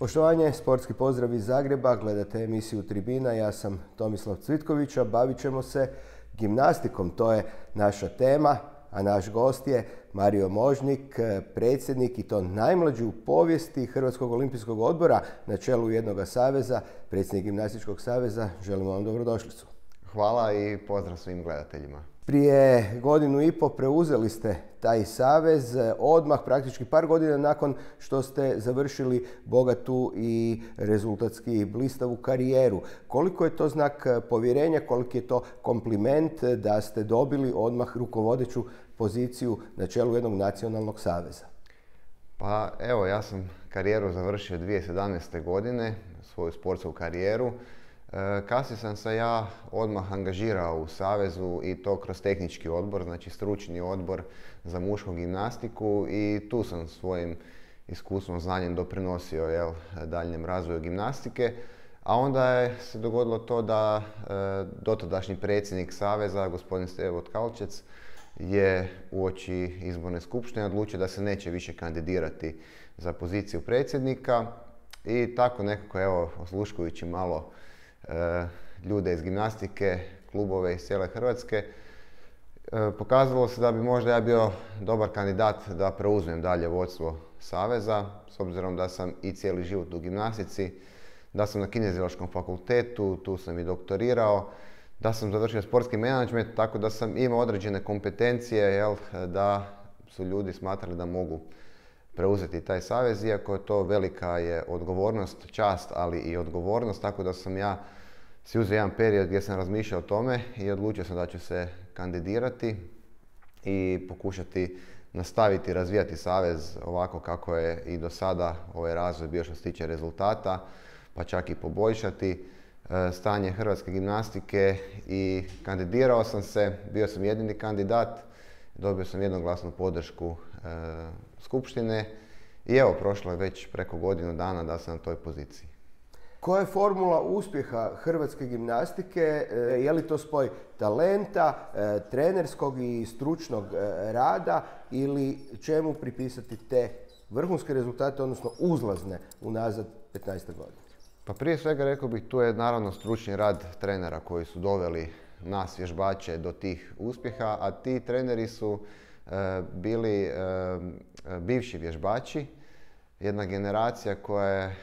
Poštovanje, sportski pozdrav iz Zagreba, gledate emisiju Tribina, ja sam Tomislav Cvitković, a bavit ćemo se gimnastikom, to je naša tema, a naš gost je Mario Možnik, predsjednik i to najmlađi u povijesti Hrvatskog olimpijskog odbora na čelu jednoga saveza, predsjednik Gimnastičkog saveza. Želimo vam dobrodošlicu. Hvala i pozdrav svim gledateljima. Prije 1,5 godine preuzeli ste taj savez odmah, praktički par godina nakon što ste završili bogatu i rezultatski blistavu karijeru. Koliko je to znak povjerenja, koliki je to kompliment da ste dobili odmah rukovodeću poziciju na čelu jednog nacionalnog saveza? Pa evo, ja sam karijeru završio 2017. godine, svoju sportsku karijeru. Kasnije sam se ja odmah angažirao u savezu i to kroz tehnički odbor, znači stručni odbor za mušku gimnastiku, i tu sam svojim iskustvom, znanjem doprinosio daljnjem razvoju gimnastike. A onda je se dogodilo to da dotadašnji predsjednik saveza, gospodin Stevo Tkalčec, je uoči izborne skupštine odlučio da se neće više kandidirati za poziciju predsjednika, i tako nekako, evo, osluškujući malo ljude iz gimnastike, klubove iz cijele Hrvatske, pokazalo se da bi možda ja bio dobar kandidat da preuzmem dalje vodstvo saveza, s obzirom da sam i cijeli život u gimnastici, da sam na Kineziološkom fakultetu, tu sam i doktorirao, da sam završio sportski menadžment, tako da sam imao određene kompetencije, da su ljudi smatrali da mogu preuzeti taj savez, iako je to velika je odgovornost, čast, ali i odgovornost, tako da sam ja si uzeo jedan period gdje sam razmišljao o tome i odlučio sam da ću se kandidirati i pokušati nastaviti razvijati savez ovako kako je i do sada ovaj razvoj bio što se tiče rezultata, pa čak i poboljšati stanje hrvatske gimnastike. I kandidirao sam se, bio sam jedini kandidat, dobio sam jednoglasnu podršku skupštine i evo, prošlo je već preko godinu dana da sam na toj poziciji. Koja je formula uspjeha hrvatske gimnastike? Je li to spoj talenta, trenerskog i stručnog rada, ili čemu pripisati te vrhunske rezultate, odnosno uzlazne unazad 15 godina? Pa prije svega rekao bih, tu je naravno stručni rad trenera koji su doveli nas vježbače do tih uspjeha, a ti treneri su bili bivši vježbači, jedna generacija koja je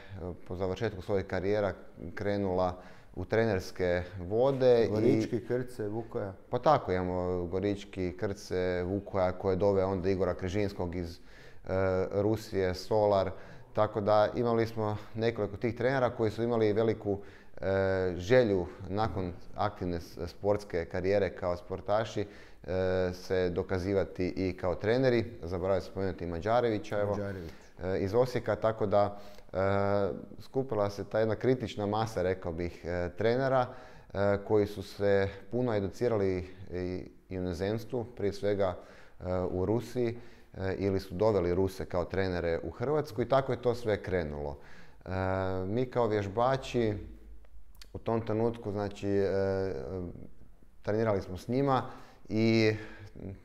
po završetku svojih karijera krenula u trenerske vode. Gorički, Krce, Vukoja. Pa tako, imamo Gorički, Krce, Vukoja, koje dove onda Igora Križinskog iz Rusije, Solar. Tako da imali smo nekoliko tih trenera koji su imali veliku želju nakon aktivne sportske karijere kao sportaši se dokazivati i kao treneri. Zaboravio sam spomenuti Mađarevića iz Osijeka, tako da skupila se ta jedna kritična masa, rekao bih, trenera koji su se puno educirali i u inozemstvu, prije svega u Rusiji, ili su doveli Ruse kao trenere u Hrvatsku, i tako je to sve krenulo. Mi kao vježbači u tom trenutku, znači, trenirali smo s njima i,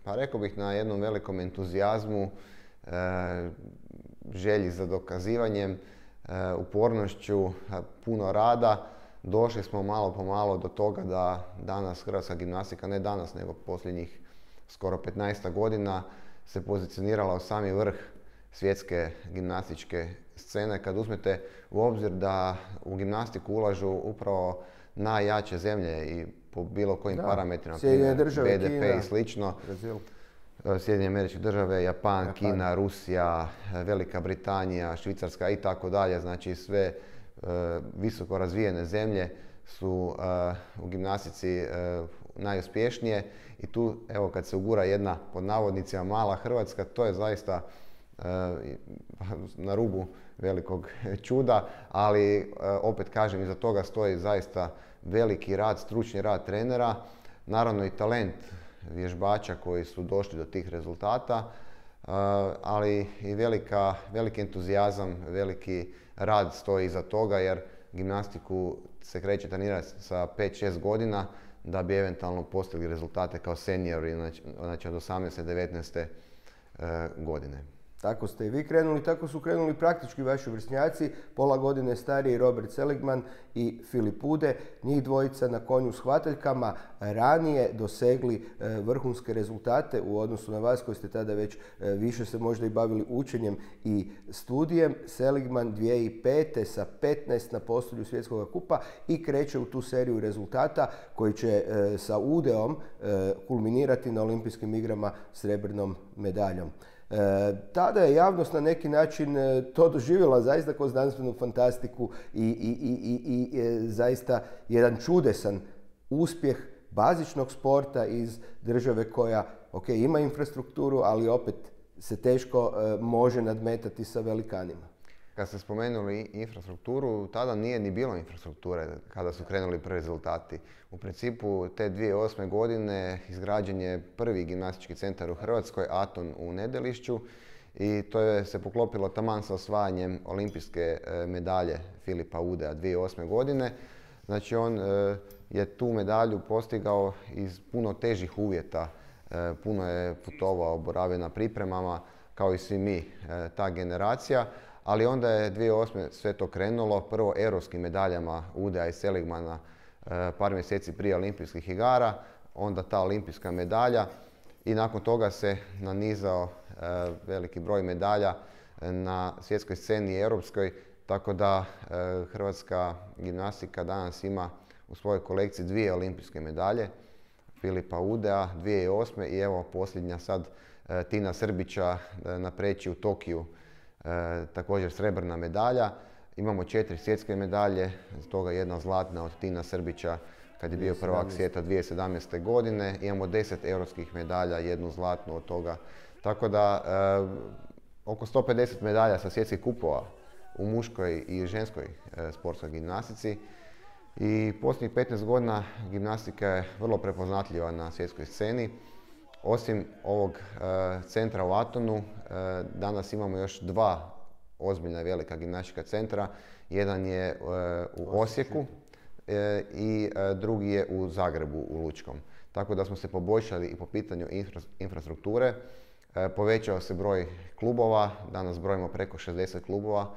pa rekao bih, na jednom velikom entuzijazmu, želji za dokazivanjem, upornošću, puno rada, došli smo malo po malo do toga da danas hrvatska gimnastika, ne danas nego posljednjih skoro 15 godina, se pozicionirala u sami vrh svjetske gimnastičke scene. Kad uzmete u obzir da u gimnastiku ulažu upravo najjače zemlje i po bilo kojim parametrima, BDP Kina, i slično, Sjedinjene Američke Države, Japan, Kina, Rusija, Velika Britanija, Švicarska i tako dalje, znači sve visoko razvijene zemlje su u gimnastici najuspješnije, i tu, evo, kad se ugura jedna, pod navodnicima, mala Hrvatska, to je zaista na rubu velikog čuda, ali opet kažem, iza toga stoji zaista veliki rad, stručni rad trenera, naravno i talent vježbača koji su došli do tih rezultata, ali i veliki entuzijazam, veliki rad stoji iza toga, jer gimnastiku se kreće trenirati sa 5-6 godina da bi eventualno postigli rezultate kao seniori, znači od 18-19 godine. tako ste i vi krenuli, tako su krenuli praktički vaši vršnjaci, pola godine stariji Robert Seligman i Filip Ude, njih dvojica na konju s hvataljkama, ranije dosegli vrhunske rezultate u odnosu na vas koji ste tada već više se možda i bavili učenjem i studijem. Seligman 2005. sa 15 na postolju svjetskog kupa i kreće u tu seriju rezultata koji će sa Udeom kulminirati na olimpijskim igrama srebrnom medaljom. Tada je javnost na neki način to doživjela zaista kao znanstvenu fantastiku i zaista jedan čudesan uspjeh bazičnog sporta iz države koja ima infrastrukturu, ali opet se teško može nadmetati sa velikanima. Kad ste spomenuli infrastrukturu, tada nije ni bilo infrastrukture kada su krenuli prvi rezultati. U principu te 2008. godine izgrađen je prvi gimnastički centar u Hrvatskoj, Aton u Nedelišću, i to je se poklopilo taman sa osvajanjem olimpijske medalje Filipa Udea 2008. godine. Znači on je tu medalju postigao iz puno težih uvjeta, puno je putovao, boravio na pripremama, kao i svi mi, ta generacija. Ali onda je 2008. sve to krenulo, prvo europskim medaljama Udea i Seligmana par mjeseci prije olimpijskih igara, onda ta olimpijska medalja i nakon toga se nanizao veliki broj medalja na svjetskoj sceni i europskoj, tako da hrvatska gimnastika danas ima u svojoj kolekciji 2 olimpijske medalje, Filipa Udea 2008. i evo posljednja sad Tina Srbića na preći u Tokiju, također srebrna medalja. Imamo 4 svjetske medalje, stoga jedna zlatna od Tina Srbića kad je bio prvak svijeta 2017. godine. Imamo 10 europskih medalja, jednu zlatnu od toga. Tako da oko 150 medalja sa svjetskih kupova u muškoj i ženskoj sportskoj gimnastici. I posljednjih 15 godina gimnastika je vrlo prepoznatljiva na svjetskoj sceni. Osim ovog centra u Atonu, danas imamo još 2 ozbiljna velika gimnastička centra. Jedan je u Osijeku i drugi je u Zagrebu, u Lučkom. Tako da smo se poboljšali i po pitanju infrastrukture. Povećao se broj klubova, danas brojimo preko 60 klubova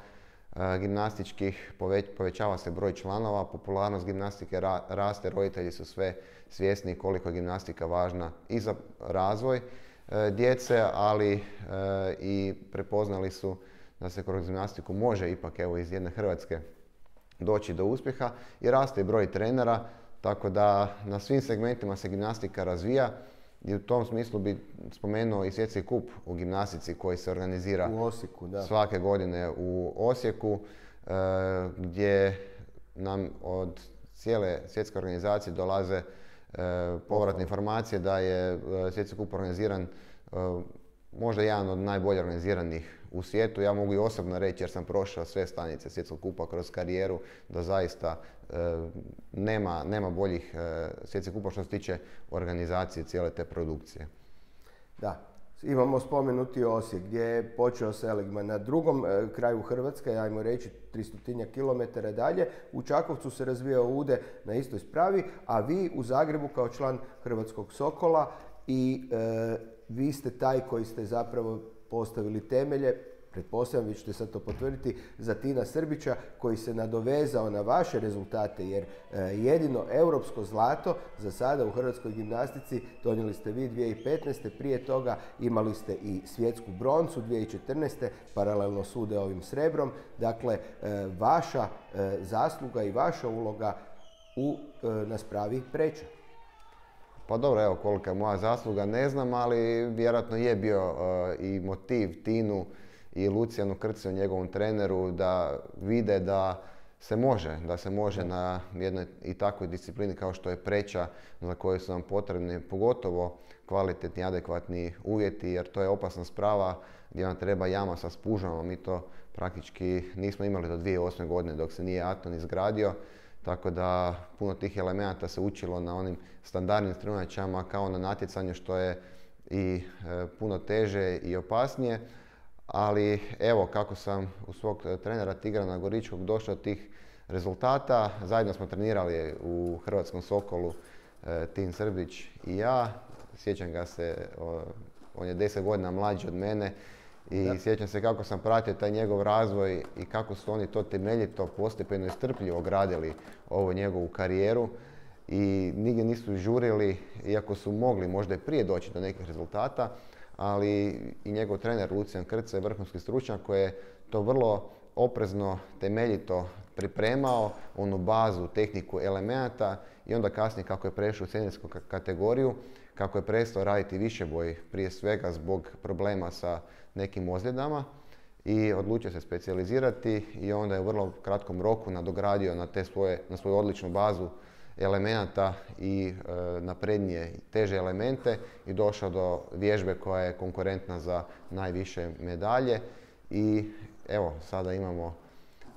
gimnastičkih, povećava se broj članova, popularnost gimnastike raste, roditelji su sve svjesni koliko je gimnastika važna i za razvoj djece, ali i prepoznali su da se kroz gimnastiku može ipak evo iz jedne Hrvatske doći do uspjeha i raste broj trenera, tako da na svim segmentima se gimnastika razvija. I u tom smislu bi spomenuo i svjetski kup u gimnastici koji se organizira u Osijeku, da. Svake godine u Osijeku, gdje nam od cijele svjetske organizacije dolaze povratne informacije da je svjetski kup organiziran možda jedan od najbolje organiziranih u svijetu. Ja mogu i osobno reći jer sam prošao sve stanice svjetskog kupa kroz karijeru da zaista nema boljih svjetskih kupa što se tiče organizacije cijele te produkcije. Da, imamo spomenuti Osijek gdje je počeo Seligman na drugom kraju Hrvatske, ajmo reći 300 km dalje. U Čakovcu se razvijao Ude na istoj spravi, a vi u Zagrebu kao član Hrvatskog Sokola i vi ste taj koji ste zapravo postavili temelje, pretpostavljam, vi ćete sad to potvrditi, za Tina Srbića koji se nadovezao na vaše rezultate, jer jedino europsko zlato za sada u hrvatskoj gimnastici donijeli ste vi 2015. Prije toga imali ste i svjetsku broncu 2014. paralelno s Udeovim srebrom. Dakle, vaša zasluga i vaša uloga na spravi preča. Pa dobro, evo kolika je moja zasluga ne znam, ali vjerojatno je bio i motiv Tinu i Lucijanu Krciju, njegovom treneru, da vide da se može na jednoj i takvoj disciplini kao što je preča, za koju su nam potrebni pogotovo kvalitetni, adekvatni uvjeti, jer to je opasna sprava gdje nam treba jama sa spužvama. Mi to praktički nismo imali do 2008. godine dok se nije Aton izgradio. Tako da puno tih elemenata se učilo na onim standardnim strunjačama kao na natjecanju, što je i puno teže i opasnije. Ali evo kako sam u svog trenera Tigrana Goričkog došao do tih rezultata. Zajedno smo trenirali u Hrvatskom Sokolu, Tin Srbić i ja. Sjećam ga se, on je 10 godina mlađi od mene I sjećam se kako sam pratio taj njegov razvoj i kako su oni to temeljito, postepeno i strpljivo gradili ovu njegovu karijeru i nigdje nisu žurili, iako su mogli možda i prije doći do nekih rezultata, ali i njegov trener Lucijan Krce je vrhunski stručnjak koji je to vrlo oprezno, temeljito pripremao, onu bazu, tehniku elemenata i onda kasnije kako je prešao u seniorsku kategoriju, kako je prestao raditi višeboj, prije svega zbog problema sa nekim ozljedama i odlučio se specijalizirati i onda je u vrlo kratkom roku nadogradio na svoju odličnu bazu elemenata i naprednije teže elemente i došao do vježbe koja je konkurentna za najviše medalje i evo sada imamo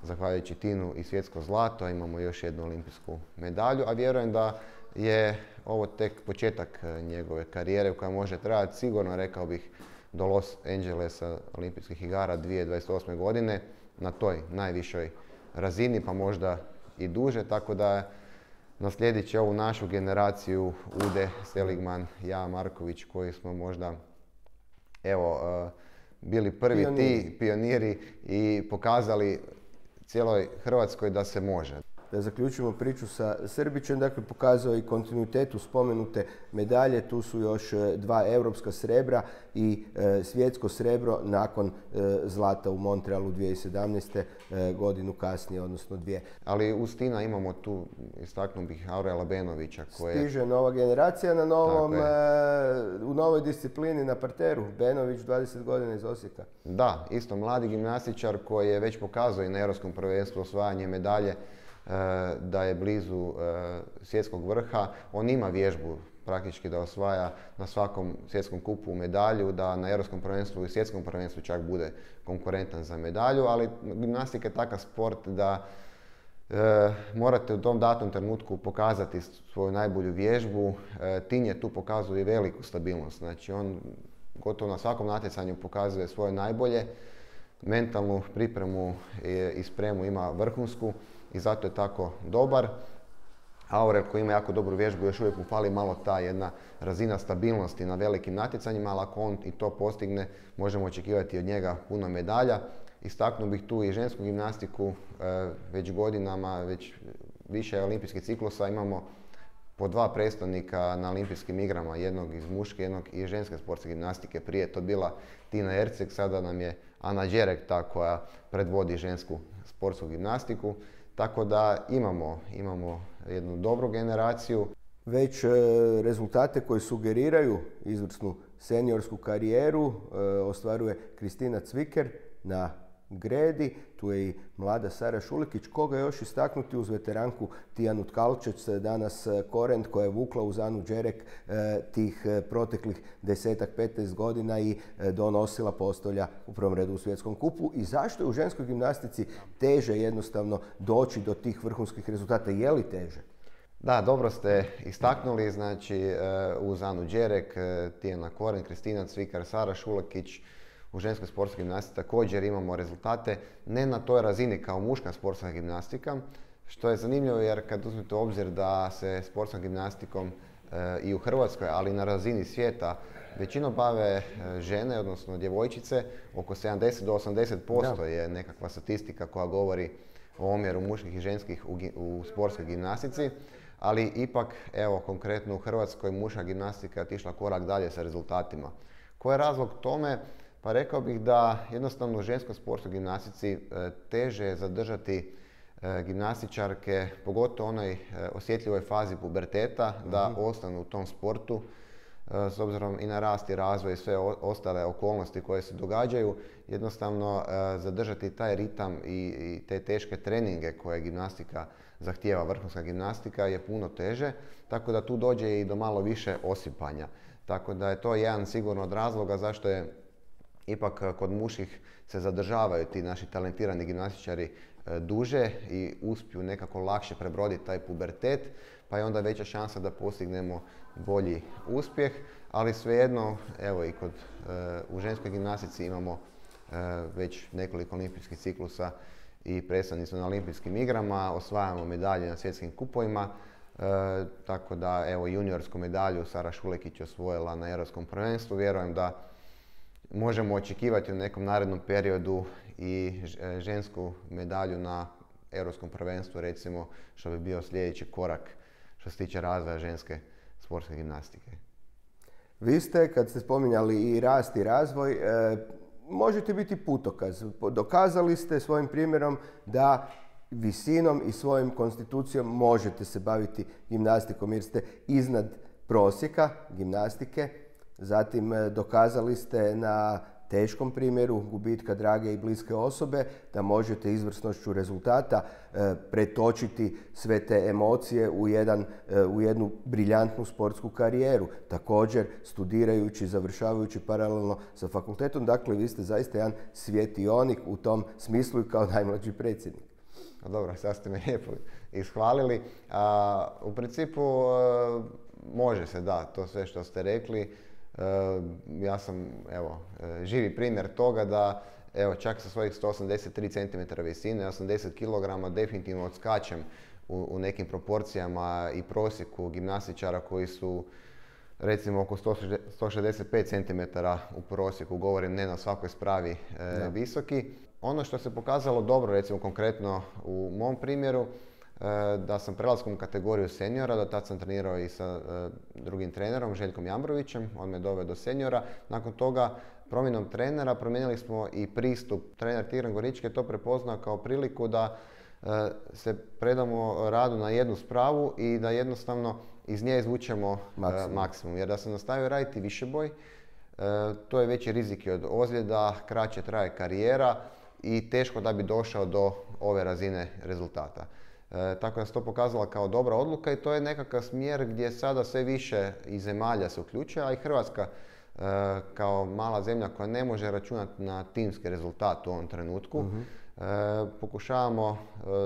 zahvaljujući Tinu i svjetsko zlato, imamo još jednu olimpijsku medalju, a vjerujem da je ovo tek početak njegove karijere koja može trajati sigurno, rekao bih, do Los Angelesa olimpijskih igara 2028. godine na toj najvišoj razini, pa možda i duže, tako da naslijedit će ovu našu generaciju Ude, Seligman, ja, Marković, koji smo možda bili prvi pioniri i pokazali cijeloj Hrvatskoj da se može. Da zaključimo priču sa Srbićem, dakle pokazao i kontinuitet u spomenute medalje, tu su još 2 europska srebra i svjetsko srebro nakon zlata u Montrealu 2017. Godinu kasnije, odnosno 2. Ali uz Tina imamo tu, istaknuo bih, Aurela Benovića koje... Stiže nova generacija na u novoj disciplini na parteru, Benović 20 godina iz Osijeka. Da, isto mladi gimnastičar koji je već pokazao i na Europskom prvenstvu osvajanje medalje, da je blizu svjetskog vrha. On ima vježbu praktički da osvaja na svakom svjetskom kupu medalju, da na Europskom prvenstvu i svjetskom prvenstvu čak bude konkurentan za medalju, ali gimnastika je takav sport da morate u tom datom trenutku pokazati svoju najbolju vježbu. Tin je tu pokazuje veliku stabilnost, znači on gotovo na svakom natjecanju pokazuje svoje najbolje, mentalnu pripremu i spremu ima vrhunsku i zato je tako dobar. Aurel koji ima jako dobru vježbu, još uvijek mu fali malo ta jedna razina stabilnosti na velikim natjecanjima, ali ako on i to postigne, možemo očekivati od njega puno medalja. Istaknuo bih tu i žensku gimnastiku, već godinama, već više olimpijskih ciklusa imamo po 2 predstavnika na olimpijskim igrama, jednog iz muške, jednog iz ženske sportske gimnastike. Prije je to bila Tina Erceg, sada nam je Ana Đerek ta koja predvodi žensku sportsku gimnastiku. Tako da imamo jednu dobru generaciju. Već rezultate koji sugeriraju izvrsnu seniorsku karijeru ostvaruje Kristina Cviker na gredi. Tu je i mlada Sara Šulekić. Koga još istaknuti uz veteranku Tijanu Tkalčec, danas Korent koja je vukla uz Anu Đerek tih proteklih 10-15 godina i donosila postolja u prvom redu u svjetskom kupu. I zašto je u ženskoj gimnastici teže jednostavno doći do tih vrhunskih rezultata? Je li teže? Da, dobro ste istaknuli, znači uz Anu Đerek, Tijana Korent, Kristina Cvikar, Sara Šulekić, u ženskoj sportskoj gimnastici također imamo rezultate, ne na toj razini kao muška sportska gimnastika, što je zanimljivo jer kad uzmete u obzir da se sportskom gimnastikom i u Hrvatskoj, ali i na razini svijeta, većinom bave žene, odnosno djevojčice, oko 70 do 80% je nekakva statistika koja govori o omjeru muških i ženskih u sportskoj gimnastici, ali ipak, evo konkretno u Hrvatskoj muška gimnastika je otišla korak dalje sa rezultatima. Koji je razlog tome? Pa rekao bih da jednostavno u ženskoj sportskoj gimnastici teže je zadržati gimnastičarke, pogotovo u onoj osjetljivoj fazi puberteta, da ostanu u tom sportu, s obzirom i na rast i razvoj i sve ostale okolnosti koje se događaju, jednostavno zadržati taj ritam i te teške treninge koje gimnastika zahtijeva, vrhunska gimnastika, je puno teže, tako da tu dođe i do malo više osipanja. Tako da je to jedan sigurno od razloga zašto je ipak kod muških se zadržavaju ti naši talentirani gimnastičari duže i uspiju nekako lakše prebroditi taj pubertet, pa je onda veća šansa da postignemo bolji uspjeh, ali svejedno, evo i u ženskoj gimnastici imamo već nekoliko olimpijskih ciklusa i predstavnici su na olimpijskim igrama, osvajamo medalje na svjetskim kupovima, tako da evo juniorsku medalju Sara Šulekić osvojila na Europskom prvenstvu, vjerujem da možemo očekivati u nekom narednom periodu i žensku medalju na Europskom prvenstvu, recimo, što bi bio sljedeći korak što se tiče razvoja ženske sportske gimnastike. Vi ste, kad ste spominjali i rast i razvoj, možete biti putokaz. Dokazali ste svojim primjerom da visinom i svojom konstitucijom možete se baviti gimnastikom jer ste iznad prosjeka gimnastike. Zatim dokazali ste na teškom primjeru gubitka drage i bliske osobe da možete izvrsnošću rezultata pretočiti sve te emocije u jednu briljantnu sportsku karijeru. Također studirajući, završavajući paralelno sa fakultetom. Dakle, vi ste zaista jedan svjetionik u tom smislu i kao najmlađi predsjednik. Dobro, sad ste me lijepo ishvalili. U principu može se, da, to sve što ste rekli. Ja sam živi primjer toga da čak sa svojih 183 cm visine, 80 kg definitivno odskačem u nekim proporcijama i prosjeku gimnastičara koji su recimo oko 165 cm u prosjeku, govorim ne na svakoj spravi visoki. Ono što se pokazalo dobro, recimo konkretno u mom primjeru, da sam prelaskom u kategoriju seniora, do tad sam trenirao i sa drugim trenerom, Željkom Jambrovićem, on me doveo do seniora. Nakon toga, promjenom trenera, promijenili smo i pristup. Trener Tigran Gorički je to prepoznao kao priliku da se predamo radu na jednu spravu i da jednostavno iz nje izvučemo maksimum. Jer da sam nastavio raditi višeboj, to je veći rizik od ozljeda, kraće traje karijera i teško da bi došao do ove razine rezultata. Tako da se to pokazala kao dobra odluka i to je nekakav smjer gdje sada sve više i zemalja se uključuje, a i Hrvatska kao mala zemlja koja ne može računati na timski rezultat u ovom trenutku. Pokušavamo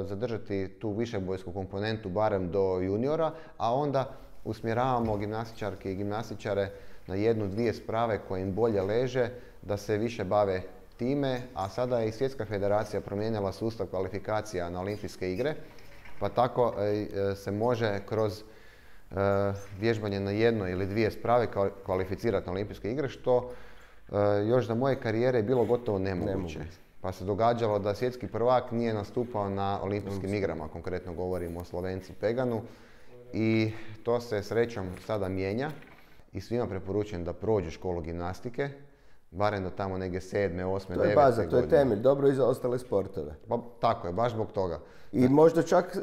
zadržati tu višebojsku komponentu barem do juniora, a onda usmjeravamo gimnastičarke i gimnastičare na jednu, dvije sprave koje im bolje leže, da se više bave time, a sada je i Svjetska federacija promijenila sustav kvalifikacija na olimpijske igre, pa tako se može kroz vježbanje na jednoj ili dvije sprave kvalificirati na olimpijske igre, što još za moje karijere je bilo gotovo nemoguće. Pa se događalo da svjetski prvak nije nastupao na olimpijskim igrama, konkretno govorimo o Slovencu Peganu, i to se srećom sada mijenja i svima preporučujem da prođu školu gimnastike, barem do tamo neke 7., 8., 9. godine. To je baza, to je temelj, dobro i za ostale sportove. Pa, tako je, baš zbog toga. I možda čak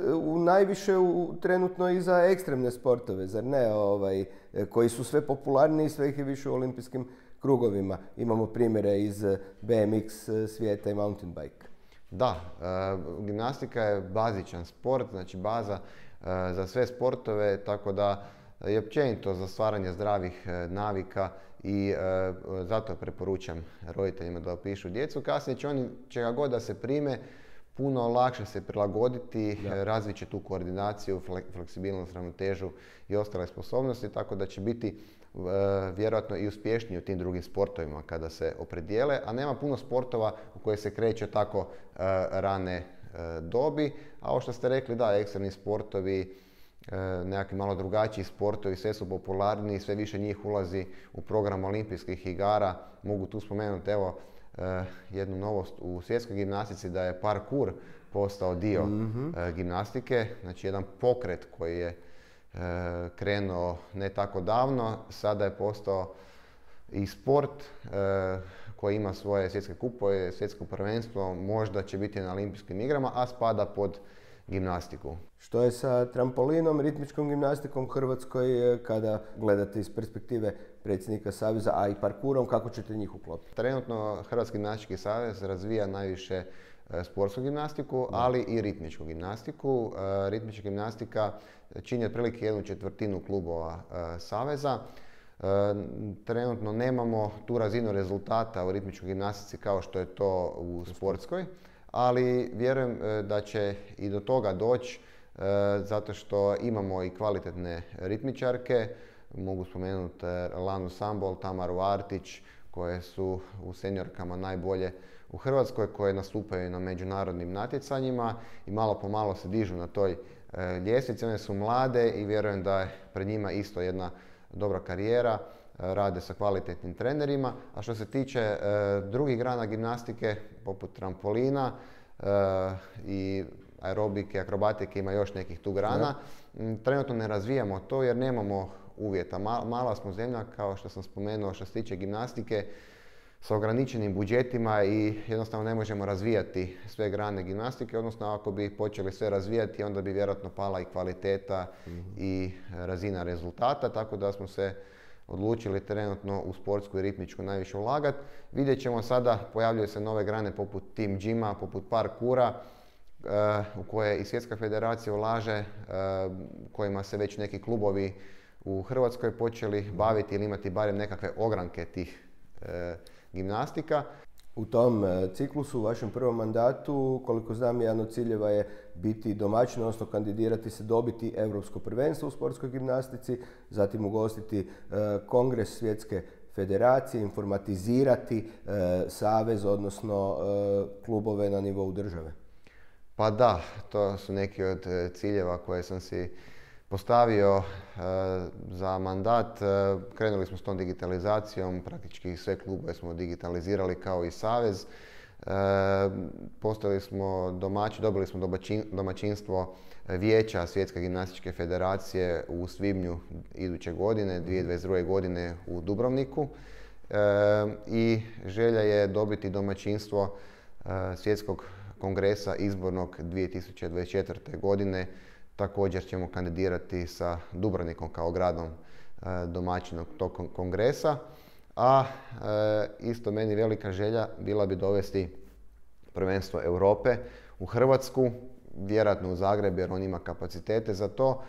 najviše trenutno i za ekstremne sportove, zar ne, koji su sve popularniji i sve ih je više u olimpijskim krugovima. Imamo primjere iz BMX svijeta i mountain bike. Da, gimnastika je bazičan sport, znači baza za sve sportove, tako da je općenito za stvaranje zdravih navika i zato preporučam roditeljima da upišu djecu. Kasnije će oni, čega god da se prime, puno lakše se prilagoditi, razvit će tu koordinaciju, fleksibilnost, ravnotežu i ostale sposobnosti, tako da će biti vjerojatno i uspješniji u tim drugim sportovima kada se opredijele, a nema puno sportova u koje se kreće tako rane dobi. A ovo što ste rekli, da, ekstremni sportovi, nekakvi malo drugačiji sportovi, sve su popularniji, sve više njih ulazi u program olimpijskih igara. Mogu tu spomenuti jednu novost u svjetskoj gimnastici, da je parkour postao dio gimnastike, znači jedan pokret koji je krenuo ne tako davno, sada je postao i sport koji ima svoje svjetske kupove, svjetsko prvenstvo, možda će biti na olimpijskim igrama, a spada pod gimnastiku. Što je sa trampolinom, ritmičkom gimnastikom u Hrvatskoj, kada gledate iz perspektive predsjednika Saveza, a i parkurom, kako ćete njih uklopiti? Trenutno Hrvatski gimnastički savez razvija najviše sportsku gimnastiku, ali i ritmičku gimnastiku. Ritmička gimnastika čini otprilike 1/4 klubova saveza. Trenutno nemamo tu razinu rezultata u ritmičkoj gimnastici kao što je to u sportskoj, ali vjerujem da će i do toga doći zato što imamo i kvalitetne ritmičarke. Mogu spomenuti Lanu Sambol, Tamaru Artić, koje su u seniorkama najbolje u Hrvatskoj, koje nastupaju na međunarodnim natjecanjima i malo po malo se dižu na toj ljestvici. One su mlade i vjerujem da je pred njima isto jedna dobra karijera. rade sa kvalitetnim trenerima. A što se tiče drugih grana gimnastike, poput trampolina i aerobike, akrobatike, ima još nekih tu grana, trenutno ne razvijamo to jer nemamo uvjeta. Mala smo zemlja, kao što sam spomenuo, što se tiče gimnastike, sa ograničenim budžetima i jednostavno ne možemo razvijati sve grane gimnastike, odnosno ako bi počeli sve razvijati, onda bi vjerojatno pala i kvaliteta i razina rezultata, tako da smo se odlučili trenutno u sportsku i ritmičku najviše ulagati. Vidjet ćemo sada, pojavljuju se nove grane poput team gima, poput parkura, u koje i Svjetska federacija ulaže, kojima se već neki klubovi u Hrvatskoj počeli baviti ili imati barem nekakve ogranke tih gimnastika. U tom ciklusu, u vašem prvom mandatu, koliko znam, jedan od ciljeva je biti domaćin, odnosno kandidirati se, dobiti Europsko prvenstvo u sportskoj gimnastici, zatim ugostiti kongres Svjetske federacije, informatizirati savez, odnosno klubove na nivou države. Pa da, to su neki od ciljeva koje sam si postavio za mandat. Krenuli smo s tom digitalizacijom, praktički sve klubove smo digitalizirali kao i savez. Dobili smo domaćinstvo vijeća Svjetske gimnastičke federacije u svibnju iduće godine, 2022. godine u Dubrovniku. I želja je dobiti domaćinstvo Svjetskog kongresa izbornog 2024. godine. Također ćemo kandidirati sa Dubrovnikom kao gradom domaćinom tog kongresa. A isto meni velika želja bila bi dovesti prvenstvo Europe u Hrvatsku, vjerojatno u Zagreb jer on ima kapacitete za to.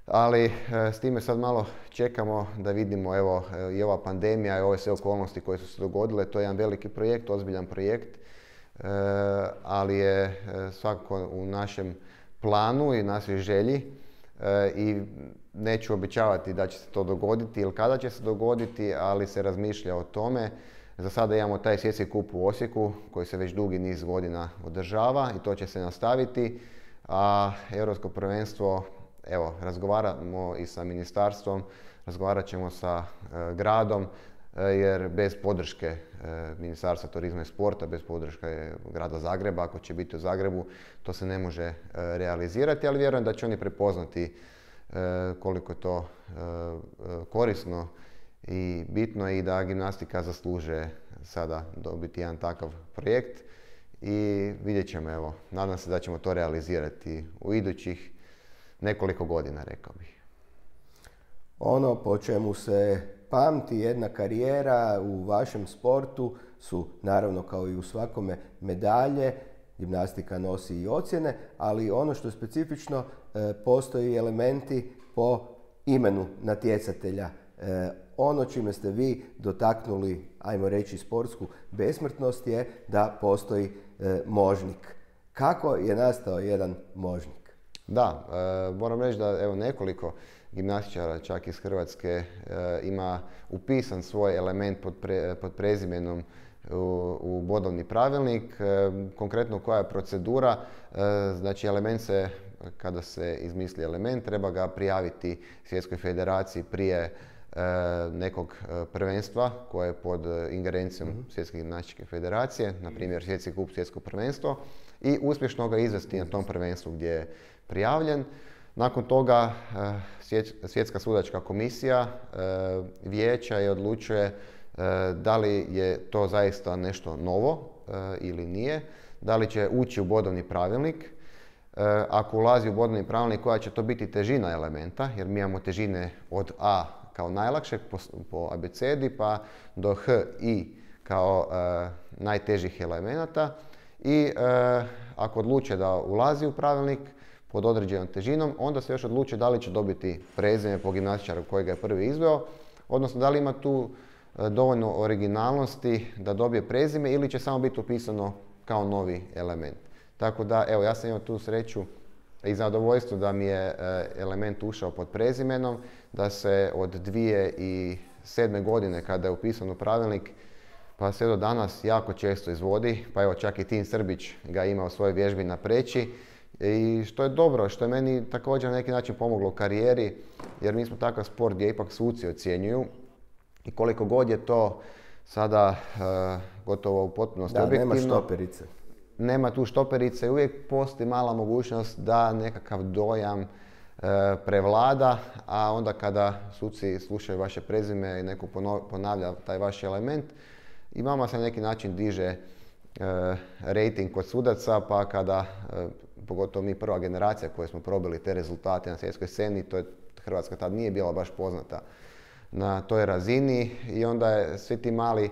Ali s time sad malo čekamo da vidimo, evo i ova pandemija i ove sve okolnosti koje su se dogodile, to je jedan veliki projekt, ozbiljan projekt, ali je svakako u našem planu i našoj želji i neću obećavati da će se to dogoditi ili kada će se dogoditi, ali se razmišlja o tome. Za sada imamo taj svjetski kup u Osijeku koji se već dugi niz godina održava i to će se nastaviti, a Europsko prvenstvo, evo, razgovaramo i sa ministarstvom, razgovarat ćemo sa gradom, jer bez podrške Ministarstva turizma i sporta, bez podrške grada Zagreba, ako će biti u Zagrebu, to se ne može realizirati, ali vjerujem da će oni prepoznati koliko je to korisno i bitno i da gimnastika zaslužuje sada dobiti jedan takav projekt i vidjet ćemo, evo, nadam se da ćemo to realizirati u idućih nekoliko godina, rekao bih. Ono po čemu se pamti jedna karijera u vašem sportu su, naravno kao i u svakome, medalje, gimnastika nosi i ocjene, ali ono što je specifično, postoji elementi po imenu natjecatelja. Ono čime ste vi dotaknuli, ajmo reći, sportsku besmrtnost je da postoji možnik. Kako je nastao jedan možnik? Da, moram reći da evo nekoliko gimnastičara čak iz Hrvatske ima upisan svoj element pod prezimenom u bodovni pravilnik. Konkretno koja je procedura, znači element se, kada se izmisli element, treba ga prijaviti Svjetskoj federaciji prije nekog prvenstva koje je pod ingerencijom Svjetske gimnastičke federacije, na primjer Svjetski kup, Svjetsko prvenstvo, i uspješno ga izvesti na tom prvenstvu gdje je prijavljen. Nakon toga Svjetska sudačka komisija vijeća je odlučuje da li je to zaista nešto novo ili nije, da li će ući u bodovni pravilnik. Ako ulazi u bodovni pravilnik, koja će to biti težina elementa, jer mi imamo težine od A kao najlakšeg po abecedi pa do H, I kao najtežih elemenata. I ako odluče da ulazi u pravilnik pod određenom težinom, onda se još odluči da li će dobiti prezime po gimnastičaru koji ga je prvi izveo, odnosno da li ima tu dovoljno originalnosti da dobije prezime ili će samo biti upisano kao novi element. Tako da, evo, ja sam imao tu sreću i zadovoljstvo da mi je element ušao pod prezimenom, da se od 2007. godine kada je upisan u pravilnik pa sve do danas jako često izvodi, pa evo čak i Tin Srbić ga ima u svojoj vježbi na Preći. I što je dobro, što je meni također na neki način pomoglo u karijeri, jer mi smo takav sport gdje ipak suci ocjenjuju I koliko god je to sada gotovo u potpunosti objektivno. Da, nema štoperice. Nema tu štoperice i uvijek postoji mala mogućnost da nekakav dojam prevlada, a onda kada suci slušaju vaše prezime i neko ponavlja taj vaš element, i vama se na neki način diže rating kod sudaca, pa kada, pogotovo mi prva generacija koja smo probili te rezultate na svjetskoj sceni, Hrvatska tad nije bila baš poznata na toj razini i onda je svi ti mali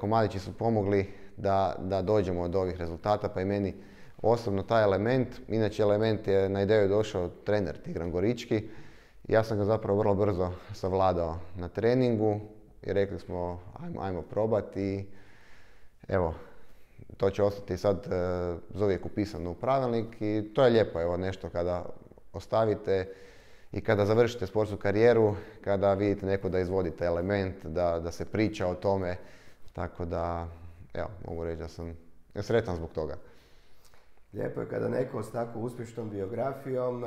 komadići su pomogli da dođemo do ovih rezultata, pa i meni osobno taj element, inače element je na ideju došao trener Tigran Gorički. Ja sam ga zapravo vrlo brzo savladao na treningu i rekli smo ajmo probati i evo, to će ostati sad zauvijek upisano u pravilnik i to je lijepo, evo nešto kada ostavite i kada završite sportsku karijeru, kada vidite neko da izvodite element, da se priča o tome, tako da evo, mogu reći da sam sretan zbog toga. Lijepo je kada neko s tako uspješnom biografijom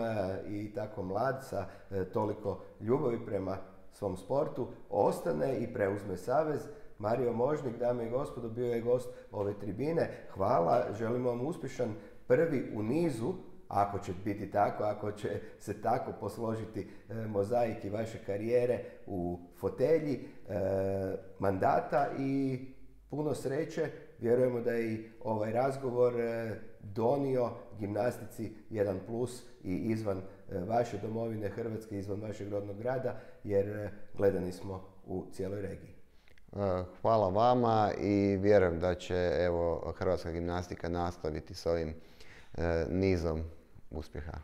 i tako mlad sa toliko ljubavi prema svom sportu ostane i preuzme savez. Mario Možnik, dame i gospodo, bio je gost ove tribine. Hvala, želimo vam uspješan prvi u nizu, ako će biti tako, ako će se tako posložiti mozaik i vaše karijere u fotelji mandata i puno sreće. Vjerujemo da je i ovaj razgovor donio gimnastici jedan plus i izvan vaše domovine Hrvatske, izvan vašeg rodnog grada, jer gledani smo u cijeloj regiji. Hvala vama i vjerujem da će hrvatska gimnastika nastaviti s ovim nizom uspjeha.